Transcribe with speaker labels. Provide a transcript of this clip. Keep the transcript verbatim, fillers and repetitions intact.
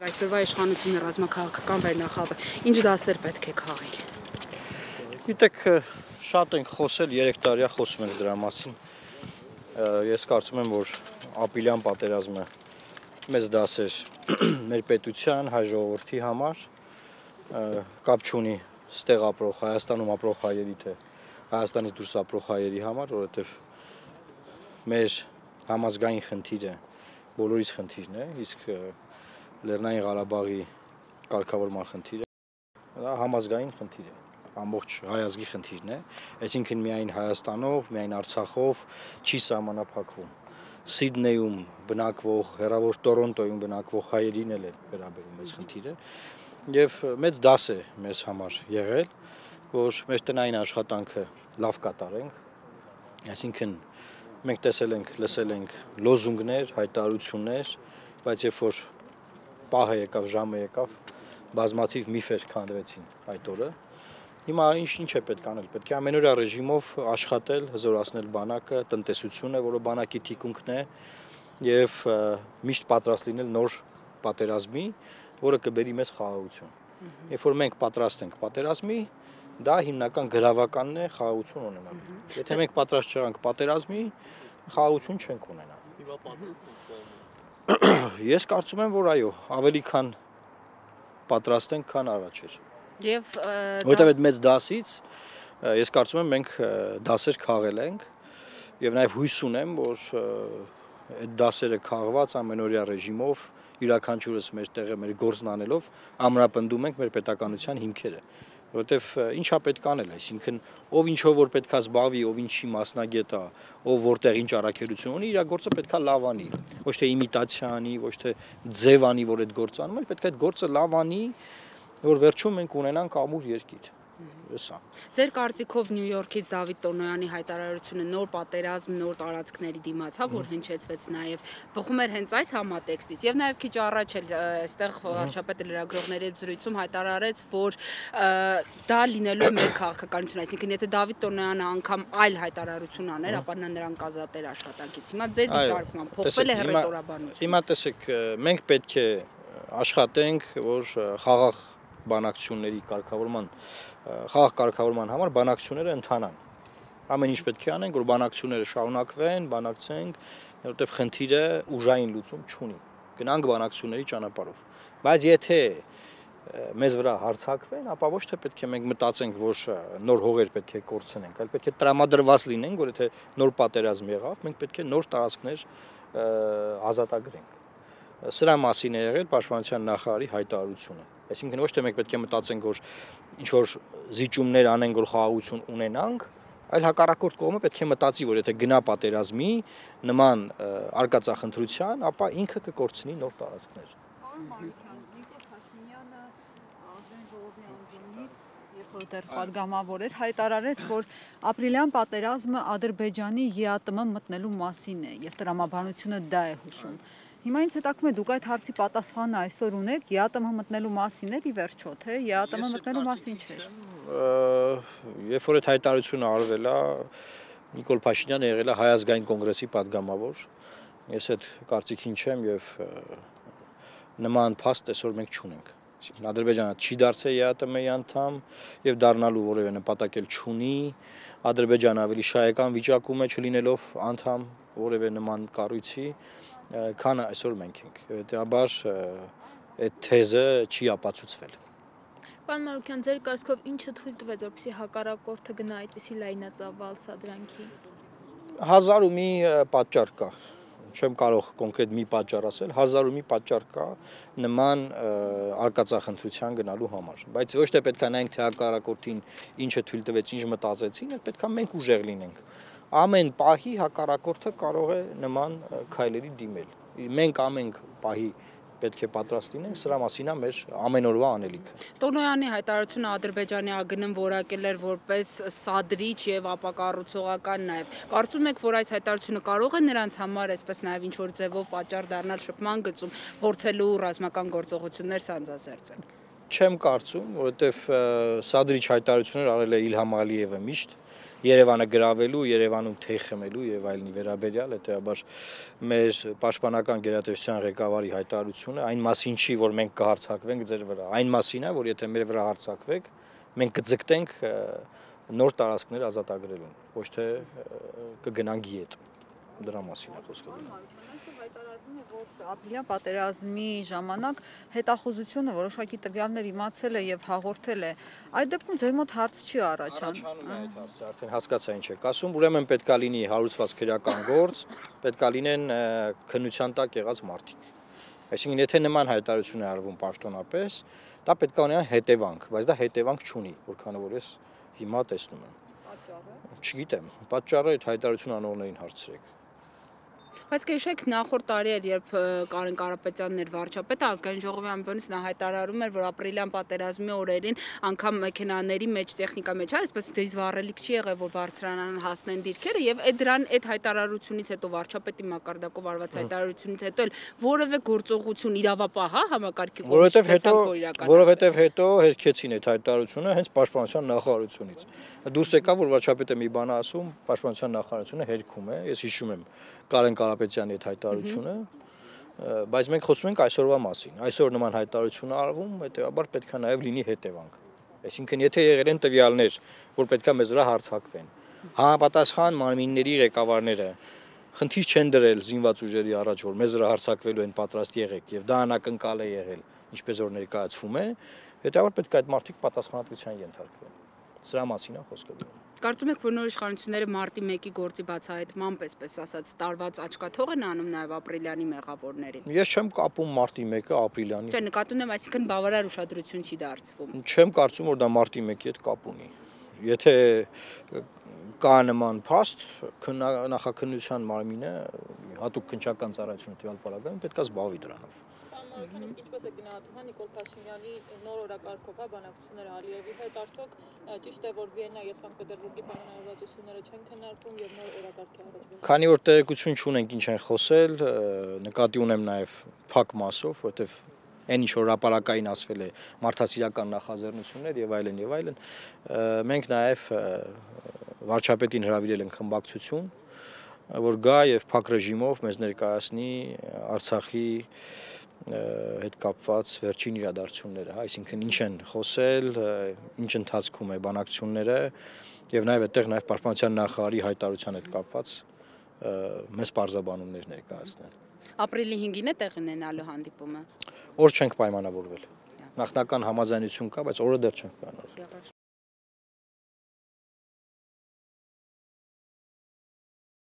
Speaker 1: Այսօրվա իշխանությունը ռազմաքաղաքական վերնախավը ինչ դասեր պետք է քաղի։
Speaker 2: Գիտեք, շատ ենք խոսել, երեք տարի խոսում ենք դրա մասին։ Ես կարծում եմ, որ ապրիլյան պատերազմը մեծ դաս էր մեր պետության, հայ ժողովրդի համար, կապ չունի ստեղ ապրող, Հայաստանում ապրող հայերի, թե Հայաստանից դուրս ապրող հայերի համար, որովհետև մեր համազգային խնդիրը բոլորիս խնդիրն է, իսկ Լեռնային Ղարաբաղի կարգավորման խնդիրը դա համազգային խնդիր է, ամբողջ հայ ազգի խնդիրն է, այսինքն միայն Հայաստանով, միայն Արցախով չի սահմանափակվում։ Սիդնեյում բնակվող, հեռավոր Տորոնտոյում բնակվող հայերին էլ է վերաբերում այս խնդիրը, եւ մեծ դաս է մեզ համար եղել, որ մեր տնային աշխատանքը լավ կատարենք, այսինքն մենք տեսել ենք, լսել ենք լոզունգներ, հայտարարություններ, բայց երբ որ պահը եկավ, ժամը եկավ, բազմաթիվ միֆեր քանդվեցին այդ օրը։ Հիմա ինչ ինչ է պետք անել, պետք է ամենօրյա ռեժիմով աշխատել, հզորացնել բանակը, տնտեսությունը, որը բանակի թիկունքն է, եւ միշտ պատրաստ լինել նոր պատերազմի, որը կբերի մեզ խաղաղություն։ Երբ որ մենք պատրաստ ենք պատերազմի, դա հիմնական գրավականն է խաղաղություն ունենալու։ Եթե մենք պատրաստ չեղանք պատերազմի, խաղաղություն չենք ունենա։
Speaker 3: Հիմա պատրաստ ենք։
Speaker 2: Ես կարծում եմ, որ այո, ավելի քան պատրաստ ենք, քան առաջ էր։
Speaker 1: Եվ
Speaker 2: որտեղ այդ մեծ դասից ես կարծում եմ մենք դասեր քաղել ենք եւ նաեւ հույս ունեմ, որ այդ դասերը քաղված ամենօրյա ռեժիմով յուրաքանչյուրս մեր տեղը մեր գործն անելով ամրապնդում ենք մեր պետականության հիմքերը, որովհետեւ ինչա պետք անել, այսինքն ով ինչով որ պետքա զբաղվի, ով ինչի մասնագետ է, ով որտեղ ինչ առաքելություն ունի, իր գործը պետքա լավ անի, ոչ թե իմիտացիա անի, ոչ թե ձև անի, որ այդ գործը անում, այլ պետք է այդ գործը լավ անի, որ վերջում մենք ունենանք ամուր երկիր։ Սա։
Speaker 1: Ձեր կարծիքով Նյու Յորքից Դավիթ Տոնոյանի հայտարարությունը նոր պատերազմ, նոր տարածքների դիմաց, հա, որ հնչեցվեց նաև, բխում էր հենց այս համատեքստից, եւ նաև քիչ առաջ էլ այստեղ վարչապետը լրագրողների հետ զրույցում հայտարարեց, որ դա լինելու է մեր քաղաքականությունը, այսինքն եթե Դավիթ Տոնոյանը անգամ այլ հայտարարություն աներ, ապա նա նրան կազատեր աշխատանքից։ Հիմա ձեր դիտարկմամբ փոխվել է հռետորաբանությունը։
Speaker 2: Հիմա տեսեք, մենք պետք է աշխատենք, որ խաղաղ բանակցությունների կարգավորման խաղաղ կարգավորման համար բանակցությունները ընթանան։ Ամեն ինչ պետք է անենք, որ բանակցությունները շարունակվեն, բանակցենք, որովհետև խնդիրը ուժային լուծում չունի։ Գնանք բանակցությունների ճանապարհով։ Բայց եթե մեզ վրա հարձակվեն, ապա ոչ թե պետք է մենք մտածենք, որ նոր հողեր պետք է կորցնենք, այլ պետք է տրամադրված լինենք, որ եթե նոր պատերազմ եղավ, մենք պետք է նոր տարածքներ ազատագրենք։ Սրա մասին է եղել պաշտպանության նախարարի հայտարարությունը։ Այսինքն ոչ թե մենք պետք է մտածենք, որ ինչ որ զիջումներ անենք, որ խաղաղություն ունենանք, այլ հակառակորդ կողմը պետք է մտածի, որ եթե գնա պատերազմի նման արկածախնդրության, ապա ինքը կկորցնի նոր տարածքներ։
Speaker 4: Պարոն Մանուկյան, Նիկոլ Փաշինյանը ազգային ժողովի անձնից, երբ որ դեռ պատգամավոր էր, հայտարարեց, որ ապրիլյան պատերազմը Ադրբեջանի ԵԱՏՄ մտնելու մասին է եւ տրամաբանությունը դա է հուշում։ Հիմա ինձ հետաքրքրում է դուք այդ հարցի պատասխանը այսօր ունեք, ԵԱՏՄ մտնելու մասին էր ի վերջո, թե ԵԱՏՄ մտնելու մասին չէր։
Speaker 2: Երբ որ այդ հայտարարությունը արվել է, Նիկոլ Փաշինյանը եղել է Հայ ազգային կոնգրեսի պատգամավոր, ես այդ կարծիքին չեմ եւ նման փաստ այսօր մենք չունենք։ Այսինքն Ադրբեջանը չի դարձել ԵԱՏՄ-ի անդամ եւ դառնալու որևէ նպատակ էլ չունի, Ադրբեջանը ավելի շահեկան վիճակում է չլինելով անդամ որևէ նման կառույցի, քան այսօր մենք ենք, հետեւաբար այդ թեզը չի ապացուցվել։
Speaker 5: Պարոն Մանուկյան, ձեր կարծիքով ինչը թույլ տվեց, որպեսզի հակառակորդը գնա այդպիսի լայնածավալ սադրանքի։
Speaker 2: Հազար ու մի պատճառ կա, չեմ կարող կոնկրետ մի պատճառ ասել, հազար ու մի պատճառ կա նման արկածախնդրության գնալու համար, բայց ոչ թե պետք է նայենք, թե հակառակորդին ինչը թույլ տվեց, ինչ մտածեցին, այլ պետք է մենք ուժեղ լինենք։ Ամեն պահի հակառակորդը կարող է նման քայլերի դիմել։ Մենք ամեն պահի պետք է պատրաստ լինենք, սրա մասին է մեր ամենօրվա անելիքը։
Speaker 1: Տոնոյանի հայտարարությունը Ադրբեջանի ԱԳՆ-ն որակել էր որպես սադրիչ եւ ապակառուցողական նաեւ։ Կարծում եք, որ այս հայտարարությունը կարող է նրանց համար, այսպես նաեւ ինչ որ ձևով պատճառ դառնալ շփման գծում, փորձելու ռազմական գործողություններ սանձազերծել։
Speaker 2: Չեմ կարծում, որովհետեւ սադրիչ հայտարարություններ արել է Իլհամ Ալիևը միշտ Երևանը գրավելու, Երևանում թեյ խմելու եւ այլնի վերաբերյալ, հետեւաբար մեր պաշտպանական գերատեսչության ղեկավարի հայտարարությունը այն մասին չի, որ մենք կհարցակվենք ձեր վրա, այն մասին է, որ եթե մեր վրա հարձակվեք, մենք կձգտենք նոր տարածքներ ազատագրելուն, ոչ թե կգնանք գիետ։ Դրա մասին է խոսքը։
Speaker 4: Հայտարարվում է, որ ապրիլյան պատերազմի ժամանակ հետախուզությունը որոշակի տվյալներ իմացել է եւ հաղորդել է։ Այդ դեպքում ձեր մոտ հարց չի առաջանում։
Speaker 2: Առաջանում է այդ հարցը, արդեն հասկացա ինչ եք ասում, ուրեմն պետքա լինի հարուցված քրեական գործ, պետքա լինեն քննության տակ եղած մարդիկ։ Այսինքն եթե նման հայտարարություն է արվում պաշտոնապես, դա պետքա ունենա հետևանք, բայց դա հետևանք չունի, որքան որ ես հիմա տեսնում եմ։
Speaker 4: Պատճառը։
Speaker 2: Չգիտեմ, պատճառը այդ հայտարարություն անողներին հարցրեք։
Speaker 1: Բայց կհիշեք նախորդ տարի էր, երբ Կարեն Կարապետյանն էր վարչապետը, ազգային ժողովի ամբողջից նա հայտարարում էր, որ ապրիլյան պատերազմի օրերին անգամ մեքենաների մեջ, տեխնիկա մեջ, այսպես դիզվառելիք չի եղել, որ բարձրանան հասնեն դիրքերը, եւ այդ դրան այդ հայտարարությունից հետո վարչապետի մակարդակով արված հայտարարությունից հետո էլ որևէ գործողություն իրավապահ, հա, համակարգի
Speaker 2: Որովհետև հետո, որովհետև հետո հերքեցին այդ հայտարարությունը հենց պաշտպանության նախարարությունից։ Դուրս եկավ, որ վարչապետը մի բան ասում, պաշտպանության նախարարությունը հերքում է, ես հիշում եմ Կարեն Կարապետյանի այդ հայտարարությունը, բայց մենք խոսում ենք այսօրվա մասին։ Այսօր նման հայտարարություն արվում, հետեւաբար պետք է նաև լինի հետևանք։ Այսինքն եթե եղել են տվյալներ, որ պետք է մեզ վրա հարձակվեն, համապատասխան մարմինների ղեկավարները խնդիր չեն դրել զինված ուժերի առաջ, որ մեզ վրա հարձակվելու են պատրաստ եղեք եւ դա անակնկալ է եղել, ինչպես որ ներկայացվում է, հետեւաբար պետք է այդ մարդիկ պատասխանատվության ենթարկվեն։ Սրա մասին է խոսքը։
Speaker 1: Կարծում եք, որ նոր իշխանությունները մարտի մեկի գործի բացահայտմամբ, այսպես ասած, տարված աչքաթող են անում նաև ապրիլյանի մեղավորներին։
Speaker 2: Ես չեմ կապում մարտի մեկը ապրիլյանի։
Speaker 1: Չէ, նկատում եմ, այսինքն բավարար ուշադրություն չի դարձվում։
Speaker 2: Չեմ կարծում, որ դա մարտի մեկի հետ կապ ունի։ Եթե կա նման փաստ, նախաքննության մարմինը հատուկ քննչական ծառայությունը տվյալ պարագայում պետք է զբաղվի դրանով։
Speaker 6: Իսկ ինչպես է գնահատում հա Նիկոլ Փաշինյանի նոր օրակարգով հա բանակցությունները Ալիևի հետ, արդյոք ճիշտ է, որ Վիեննա եւ Սանկտ Պետերբուրգի պայմանավորվածությունները չեն քննարկվում եւ նոր օրակարգ է առաջ։
Speaker 2: Քանի որ տեղեկություն չունենք ինչ են խոսել, նկատի ունեմ նաեւ փակ մասով, որովհետեւ այն ինչ որ հրապարակային ասվել է մարդասիրական նախաձեռնություններ եւ այլն եւ այլն, մենք նաեւ վարչապետին հրավիրել ենք խմբակցություն, որ գա եւ փակ ռեժիմով մեզ ներկայացնի Արցախի հետ կապված վերջին իրադարձությունները, այսինքն ինչ են խոսել, ինչ ընթացքում է բանակցությունները եւ նաեւ այդտեղ նաեւ պաշտպանության նախարարի հայտարարության հետ կապված մեծ բարձաբանումներ ներկայացնել։
Speaker 1: Ապրիլի հինգին է տեղի ունենալու հանդիպումը։
Speaker 2: Օր չենք պայմանավորվել։ Նախնական համաձայնություն կա, բայց օրը դեռ չենք պայմանավորվել։